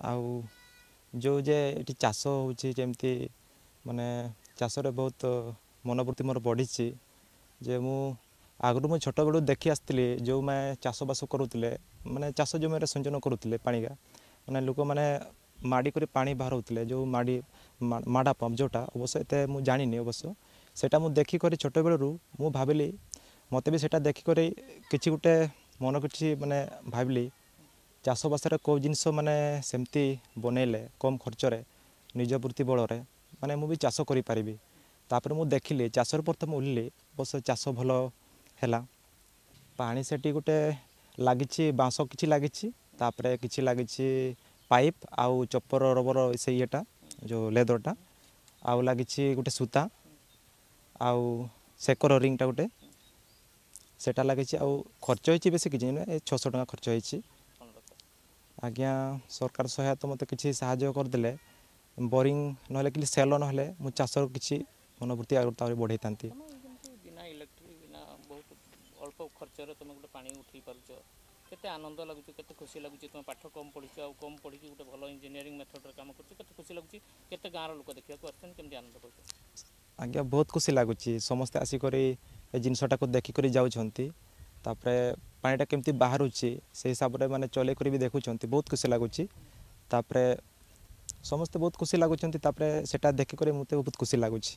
ଆଉ ଯେଉଁ ଯେ ଏଠି ଚାଷ ହେଉଛି, ଯେମିତି ମାନେ ଚାଷରେ ବହୁତ ମନୋବୃତ୍ତି ମୋର ବଢ଼ିଛି ଯେ ମୁଁ ଆଗରୁ ମୁଁ ଛୋଟବେଳୁ ଦେଖି ଆସିଥିଲି, ଯେଉଁମାନେ ଚାଷବାସ କରୁଥିଲେ, ମାନେ ଚାଷ ଜମିରେ ସିଞ୍ଚନ କରୁଥିଲେ ପାଣିକା, ମାନେ ଲୋକମାନେ ମାଡ଼ି କରି ପାଣି ବାହାରଉଥିଲେ, ଯେଉଁ ମାଡ଼ି ମାଡ଼ା ପମ୍ପ ଯେଉଁଟା, ଅବଶ୍ୟ ଏତେ ମୁଁ ଜାଣିନି। ଅବଶ୍ୟ ସେଇଟା ମୁଁ ଦେଖିକରି ଛୋଟବେଳରୁ ମୁଁ ଭାବିଲି, ମୋତେ ବି ସେଇଟା ଦେଖିକରି କିଛି ଗୋଟେ ମନ କିଛି ମାନେ ଭାବିଲି, ଚାଷବାସରେ କେଉଁ ଜିନିଷ ମାନେ ସେମିତି ବନେଇଲେ କମ୍ ଖର୍ଚ୍ଚରେ ନିଜ ବୃତ୍ତି ବଳରେ ମାନେ ମୁଁ ବି ଚାଷ କରିପାରିବି। ତାପରେ ମୁଁ ଦେଖିଲି, ଚାଷରୁ ପ୍ରଥମେ ଓହ୍ଲିଲି। ଅବଶ୍ୟ ଚାଷ ଭଲ ହେଲା। ପାଣି ସେଠି ଗୋଟେ ଲାଗିଛି, ବାଉଁଶ କିଛି ଲାଗିଛି, ତାପରେ କିଛି ଲାଗିଛି ପାଇପ୍ ଆଉ ଚପର ରବର ସେ ଇଏଟା ଯେଉଁ ଲେଦରଟା, ଆଉ ଲାଗିଛି ଗୋଟେ ସୂତା ଆଉ ସେକର ରିଙ୍ଗଟା ଗୋଟେ ସେଟା ଲାଗିଛି। ଆଉ ଖର୍ଚ୍ଚ ହେଇଛି ବେଶୀ କିଛି ନୁହେଁ, ଏ 600 ଟଙ୍କା ଖର୍ଚ୍ଚ ହେଇଛି ଆଜ୍ଞା। ସରକାର ସହାୟତା ମୋତେ କିଛି ସାହାଯ୍ୟ କରିଦେଲେ, ବୋରିଂ ନହେଲେ କି ସେଲ ନହେଲେ ମୁଁ ଚାଷର କିଛି ମନୋବୃତ୍ତି ଆଗରୁ ଆହୁରି ବଢ଼େଇଥାନ୍ତି। ବିନା ଇଲେକ୍ଟ୍ରିକ୍, ବିନା ବହୁତ ଅଳ୍ପ ଖର୍ଚ୍ଚରେ ତୁମେ ଗୋଟେ ପାଣି ଉଠେଇ ପାରୁଛ, କେତେ ଆନନ୍ଦ ଲାଗୁଛି, କେତେ ଖୁସି ଲାଗୁଛି? ତୁମେ ପାଠ କମ୍ ପଢ଼ିଛ ଆଉ କମ୍ ପଢ଼ିକି ଗୋଟେ ଭଲ ଇଞ୍ଜିନିୟରିଂ ମେଥଡ଼ରେ କାମ କରୁଛ, କେତେ ଖୁସି ଲାଗୁଛି? କେତେ ଗାଁର ଲୋକ ଦେଖିବାକୁ ଆସୁଛନ୍ତି, କେମିତି ଆନନ୍ଦ ପାଉଛ? ଆଜ୍ଞା, ବହୁତ ଖୁସି ଲାଗୁଛି। ସମସ୍ତେ ଆସିକରି ଏ ଜିନିଷଟାକୁ ଦେଖିକରି ଯାଉଛନ୍ତି। ତାପରେ ପାଣିଟା କେମିତି ବାହାରୁଛି ସେଇ ହିସାବରେ ମାନେ ଚଲେଇ କରି ବି ଦେଖୁଛନ୍ତି। ବହୁତ ଖୁସି ଲାଗୁଛି। ତାପରେ ସମସ୍ତେ ବହୁତ ଖୁସି ଲାଗୁଛନ୍ତି। ତାପରେ ସେଟା ଦେଖିକରି ମୋତେ ବହୁତ ଖୁସି ଲାଗୁଛି।